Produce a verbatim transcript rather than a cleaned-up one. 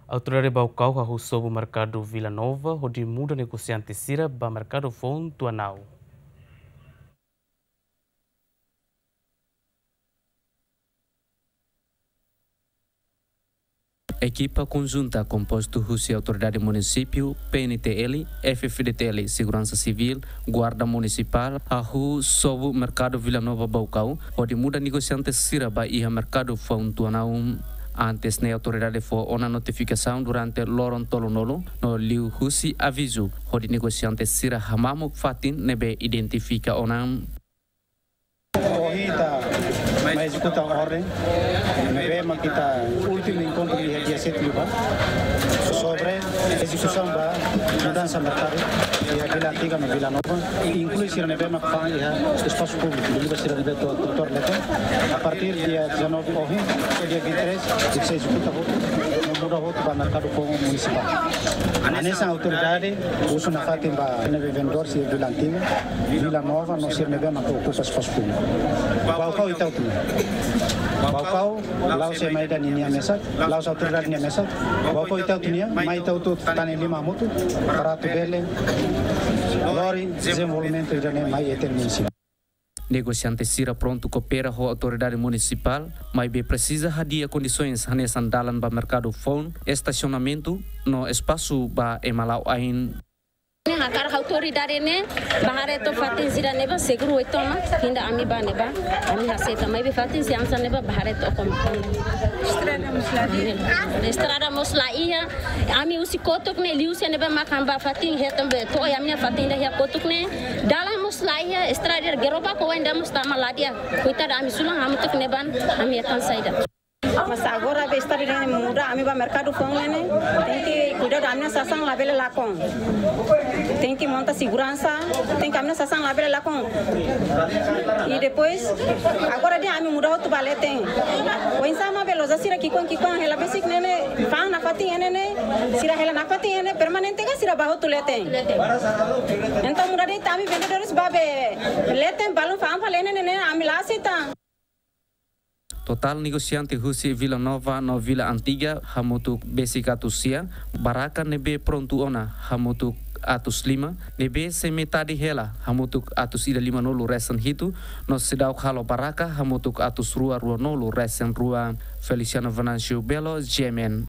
Autoridade Baucau hahú sobu merkadu Vila Nova hodi muda negosiante sira ba merkadu foun Tuanau. Ekipa konjunta kompostu husi Autoridade Munisípiu, P N T L, F F D T L, Seguransa Sivíl, Guarda Munisipál, hahú sobu merkadu Vila Nova Baucau, hodi muda negosiante sira ba iha merkadu foun Tuanau. Antes ne'e autoridade fó ona notifikasaun durante loron tolunulu, no liuhusi avizu hodi negosiante sira hamamuk fatin ne'ebé identifika ona. Ohin ita mai ezekuta orden ne'ebé mak ita últimu enkontru iha dia sete liubá, sobre ezekusaun ba mudansa merkadu iha Vila Antiga no Vila Nova, inklui sira ne'ebé mak fa'an iha espasu públiku, liuliu sira ne'ebé atu, atu tuur leten. A partir dia dezanove ohin, to'o dia vinte e três, ita sei ezekuta hotu, no muda hotu ba merkadu foun munisipál. Hanesan autoridade husu nafatin ba ne'ebé vendedór sira Vila Antiga, Vila Nova, no sira ne'ebé mak okupa espasu públiku. Baucau ita hotu nian. Baucau la'ós ema ida ninia mesak, la'ós autoridade nia mesak. Baucau ita hotu nian, mai ita hotu tane liman hamutuk, para atu bele lori dezenvolvimentu ida-ne'e mai iha ita-nia munisípiu. Negosiante sira prontu koopera ho autoridade munisipál, maibé presiza hadi'a kondisoens hanesan dalan ba merkadu foun, estasionamentu, no espasu ba ema la'o ain. Ne'e hakarak autoridade ne'e bá haree took fatin sira ne'ebá seguru uitoan mak, inda ami bá ne'ebá, ami aseita, maibé fatin sira hanesan ne'ebá bá haree took ona. Estrada mós la iha. Ami husi kotuk ne'e liu sira ne'ebá mak ami bá fatin hetan be to'o ami-nia fatin ida iha kotuk ne'e. Dalan mós la iha, estrada gerobak oan ida mós tama la di'ak. Koitadu ami sulan hamutuk ne'ebá, ami hetan saida. Mas agora be estrada ne'e muda, ami bá merkadu foun ne'e, tenke kuidadu ami-nia sasán labele lakon. Tenke monta seguransa, tenke ami-nia sasán labele lakon. I depois, agora dehan ami muda hotu bá leten. Oinsá mak be loja sira ki'ikoan ki'ikoan hela besik ne'e ne'e, fa'an nafatin iha ne'e ne'e, sira hela nafatin iha ne'e permanente ka sira bá hotu leten. Entaun muda de'it ami vendedores bá be leten balun fa'an fali iha ne'e ne'e, ami la aseita. Totál negosiante husi Vila Nova no Vila Antiga hamutuk besik atus sia, barraka ne'ebé prontu ona hamutuk atus lima, ne'ebé sei metade hela hamutuk atus ida limanulu resin hitu, no seidauk halo barraka hamutuk atus rua ruanulu resin rua. Feliciano Venâncio Belo, G M N.